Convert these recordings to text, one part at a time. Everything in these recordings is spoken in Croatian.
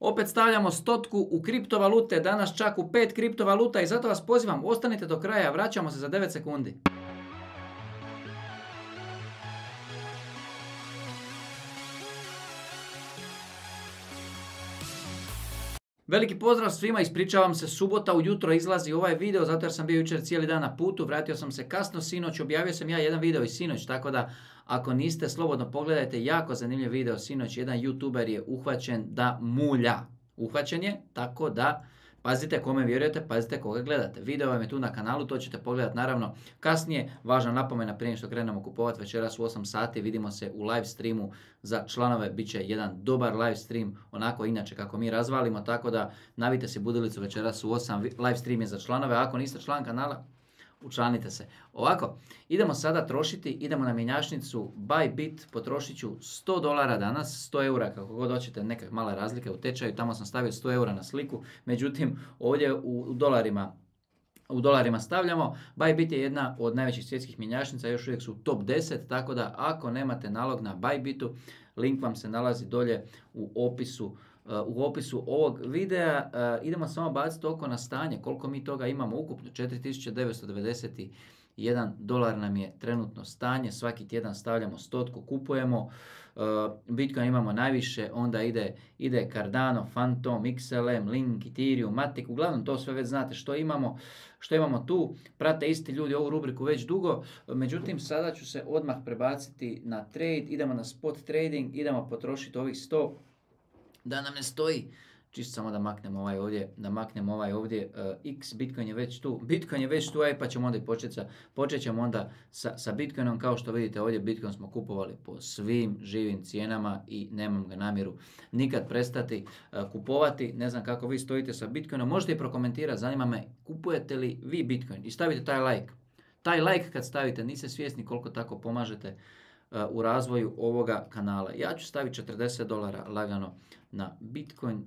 Opet stavljamo stotku u kriptovalute, danas čak u 5 kriptovaluta i zato vas pozivam, ostanite do kraja, vraćamo se za 9 sekundi. Veliki pozdrav svima, ispričavam se, subota ujutro izlazi ovaj video zato jer sam bio jučer cijeli dan na putu, vratio sam se kasno sinoć, objavio sam ja jedan video i sinoć, tako da ako niste slobodno pogledajte, jako zanimljiv video sinoć, jedan youtuber je uhvaćen da mulja. Uhvaćen je, tako da pazite kome vjerujete, pazite koga gledate. Video vam je tu na kanalu, to ćete pogledati naravno kasnije. Važna napomena prije što krenemo kupovati večeras u 8 sati, vidimo se u live streamu za članove, bit će jedan dobar live stream, onako inače kako mi razvalimo, tako da navite si budilicu večeras u 8, live stream je za članove, ako niste član kanala, učlanite se. Ovako, idemo sada trošiti, idemo na mjenjačnicu Bybit, potrošit ću $100 danas, 100 eura, kako god hoćete, neke male razlike u tečaju, tamo sam stavio 100 eura na sliku, međutim ovdje u dolarima stavljamo. Bybit je jedna od najvećih svjetskih mjenjačnica, još uvijek su u top 10, tako da ako nemate nalog na Bybitu, link vam se nalazi dolje u opisu ovog videa. Idemo samo baciti oko na stanje, koliko mi toga imamo ukupno, $4.991 nam je trenutno stanje, svaki tjedan stavljamo stotku, kupujemo, Bitcoin imamo najviše, onda ide Cardano, Phantom, XLM, Link, Ethereum, Matic, uglavnom to sve već znate što imamo tu, prate isti ljudi ovu rubriku već dugo, međutim sada ću se odmah prebaciti na trade, idemo na spot trading, idemo potrošiti ovih 100, da nam ne stoji, čisto samo da maknemo ovaj ovdje, X, Bitcoin je već tu, pa ćemo onda i počet ćemo onda sa Bitcoinom, kao što vidite ovdje Bitcoin smo kupovali po svim živim cijenama i nemam ga namjeru nikad prestati kupovati, ne znam kako vi stojite sa Bitcoinom, možete i prokomentirati, zanima me kupujete li vi Bitcoin i stavite taj like kad stavite, niste svjesni koliko tako pomažete u razvoju ovoga kanala. Ja ću staviti $40 lagano na Bitcoin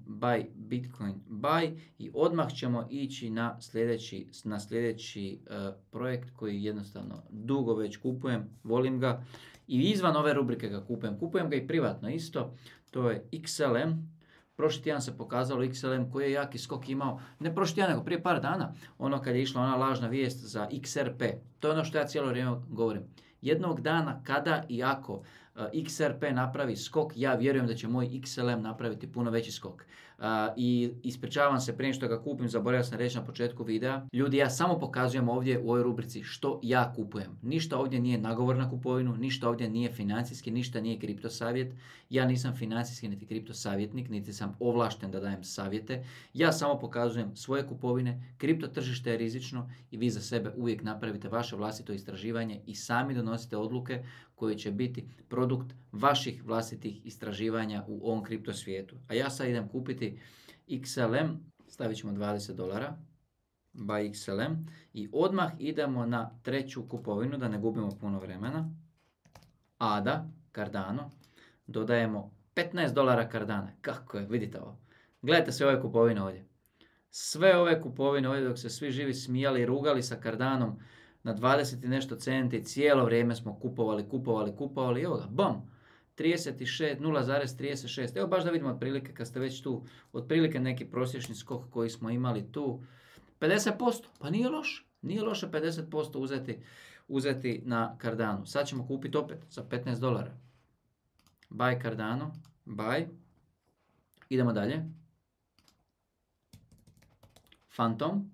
buy i odmah ćemo ići na sljedeći projekt koji jednostavno dugo već kupujem, volim ga i izvan ove rubrike ga kupujem ga i privatno isto, to je XLM. Prošli tjedan se pokazalo XLM koji je jaki skok imao, ne prošli tjedan nego prije par dana, ono kad je išla ona lažna vijest za XRP, to je ono što ja cijelo vrijeme govorim. Jednog dana kada i ako XRP napravi skok, ja vjerujem da će moj XLM napraviti puno veći skok. I ispričavam se prije što ga kupim, zaboravio sam reći na početku videa. Ljudi, ja samo pokazujem ovdje u ovoj rubrici što ja kupujem. Ništa ovdje nije nagovor na kupovinu, ništa ovdje nije financijski, ništa nije kripto savjet. Ja nisam financijski niti kripto savjetnik, niti sam ovlašten da dajem savjete. Ja samo pokazujem svoje kupovine, kripto tržište je rizično i vi za sebe uvijek napravite vaše vlastito istraživanje i sami donosite odluke koje će biti produkt vaših vlastitih istraživanja u ovom kripto svijetu. A ja sad idem kupiti XLM, stavit ćemo $20, buy XLM i odmah idemo na treću kupovinu, da ne gubimo puno vremena. ADA, Cardano, dodajemo $15 Cardana. Kako je, vidite ovo. Gledajte sve ove kupovine ovdje. Sve ove kupovine ovdje dok se svi živi smijali i rugali sa Cardanom, na 20 i nešto centi, cijelo vrijeme smo kupovali, evo ga, bom, 0,36, evo baš da vidimo otprilike kad ste već tu, otprilike neki prosječni skok koji smo imali tu, 50%, pa nije loše 50% uzeti na Cardano. Sad ćemo kupiti opet za $15. Buy Cardano, buy, idemo dalje, Phantom.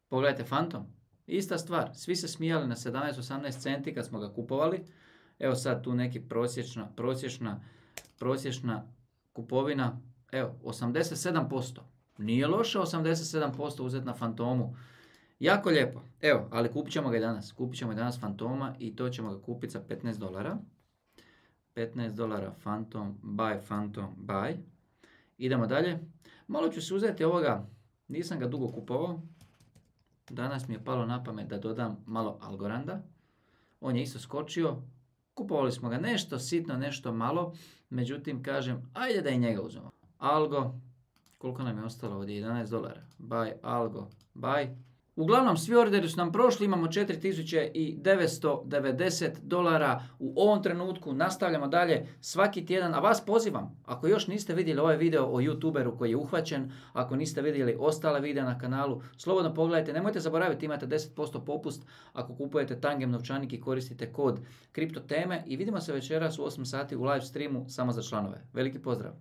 Pogledajte Phantom, ista stvar, svi se smijali na 17-18 centi kad smo ga kupovali. Evo sad tu neki prosječna kupovina, evo 87%. Nije loše 87% uzeti na Phantomu. Jako lijepo, evo, ali kupit ćemo ga i danas Phantoma i to ćemo ga kupiti za $15. $15 Phantom, buy. Idemo dalje. Malo ću se uzeti ovoga, nisam ga dugo kupovao. Danas mi je palo na pamet da dodam malo Algoranda. On je isto skočio. Kupovali smo ga nešto sitno, nešto malo. Međutim, kažem, ajde da i njega uzmemo. Algo, koliko nam je ostalo ovdje? $11. Buy, Algo, buy. Uglavnom, svi orderi su nam prošli, imamo $4.990 u ovom trenutku, nastavljamo dalje svaki tjedan, a vas pozivam, ako još niste vidjeli ovaj video o YouTuberu koji je uhvaćen, ako niste vidjeli ostale videa na kanalu, slobodno pogledajte, nemojte zaboraviti, imate 10% popust ako kupujete Tangem novčanik i koristite kod kriptoteme i vidimo se večeras u 8 sati u live streamu samo za članove. Veliki pozdrav!